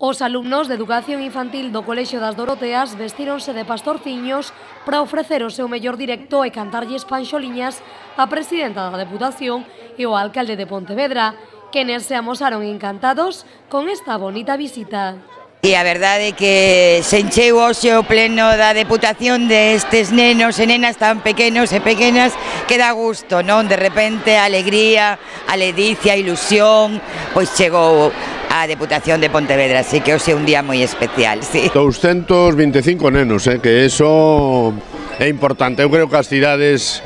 Os alumnos de Educación Infantil do Colexio das Doroteas vestíronse de pastorciños para ofrecer o seu mellor directo e cantarlles panxoliñas á presidenta da Deputación e ao alcalde de Pontevedra, quenes se amosaron encantados con esta bonita visita. E a verdade é que se encheu hoxe o pleno da Deputación destes nenos e nenas tan pequenos e pequenas que dá gusto, non? De repente a alegría, a ledicia, a ilusión, pois chegou a Deputación de Pontevedra, así que hoxe é un día moi especial, sí. 225 nenos, que eso é importante. Eu creo que as cidades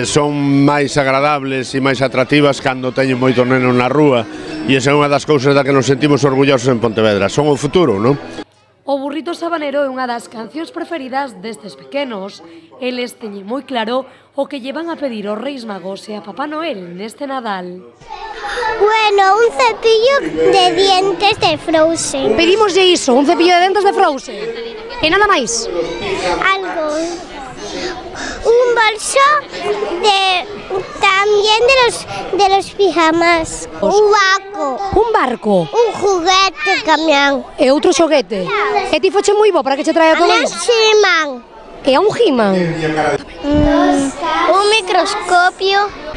son máis agradables e máis atractivas cando teñen moitos nenos na rúa, e esa é unha das cousas da que nos sentimos orgullosos en Pontevedra. Son o futuro, non? O burrito sabanero é unha das cancións preferidas destes pequenos. Eles teñen moi claro o que lle van a pedir aos Reis Magos e a Papá Noel neste Nadal. Bueno, un cepillo de dientes de Frozen. Pedimoslle iso, un cepillo de dientes de Frozen. E nada máis? Algo. Un bolso también de los pijamas. Un barco. Un barco. Un juguete camión. E outro xoguete. E ti foche moi bo para que che traia todo iso? He-Man. E a un He-Man. Un microscopio.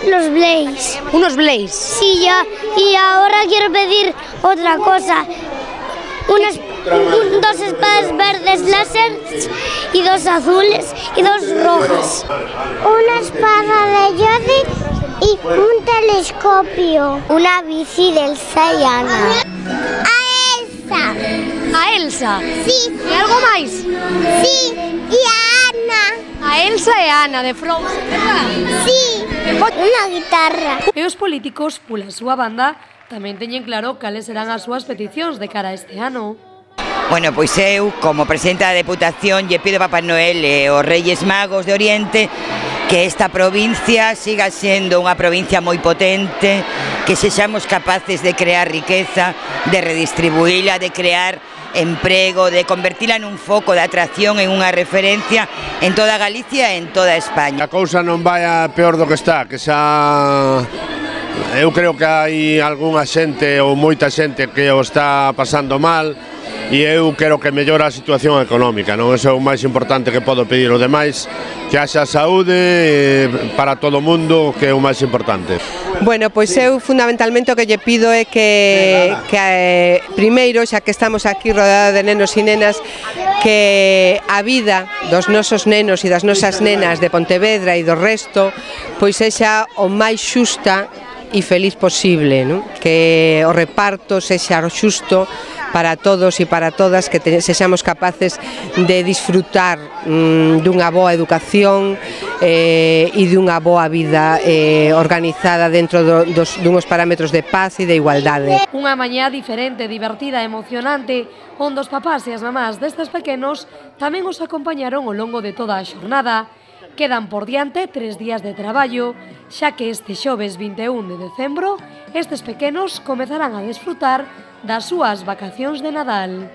Los Blaze. Unos Blaze. Sí, ya. Y ahora quiero pedir otra cosa. Dos espadas verdes láser y dos azules y dos rojas. Una espada de Yoda y un telescopio. Una bici de Elsa y Anna. A Elsa. A Elsa? Sí. E algo máis? Sí. Y a Anna. A Elsa e a Anna de Frozen, verdad? Sí. Una guitarra. E os políticos, pola súa banda, tamén teñen claro cales serán as súas peticións de cara a este ano. Bueno, pois eu, como presidenta da Deputación, lle pido a Papá Noel e aos Reis Magos de Oriente que esta provincia siga sendo unha provincia moi potente, que sexamos capaces de crear riqueza, de redistribuíla, de crear emprego, de convertila nun foco de atracción, en unha referencia en toda Galicia e en toda España. A cousa non vai a peor do que está, que xa... Eu creo que hai algunha xente ou moita xente que o está pasando mal, e eu quero que mellora a situación económica, non? Eso é o máis importante que podo pedir. O demais, que haxa saúde para todo o mundo, que é o máis importante. Bueno, pois eu fundamentalmente o que lle pido é que primeiro, xa que estamos aquí rodeados de nenos e nenas, que a vida dos nosos nenos e das nosas nenas de Pontevedra e do resto pois sexa o máis xusta e feliz posible, non? Que o reparto sexa xusto para todos e para todas, que sexamos capaces de disfrutar dunha boa educación e dunha boa vida organizada dentro dunhos parámetros de paz e de igualdade. Unha mañá diferente, divertida e emocionante, onde os papás e as mamás destes pequenos tamén os acompañaron ao longo de toda a xornada. Quedan por diante 3 días de traballo, xa que este xoves 21 de decembro estes pequenos comezarán a desfrutar das súas vacacións de Nadal.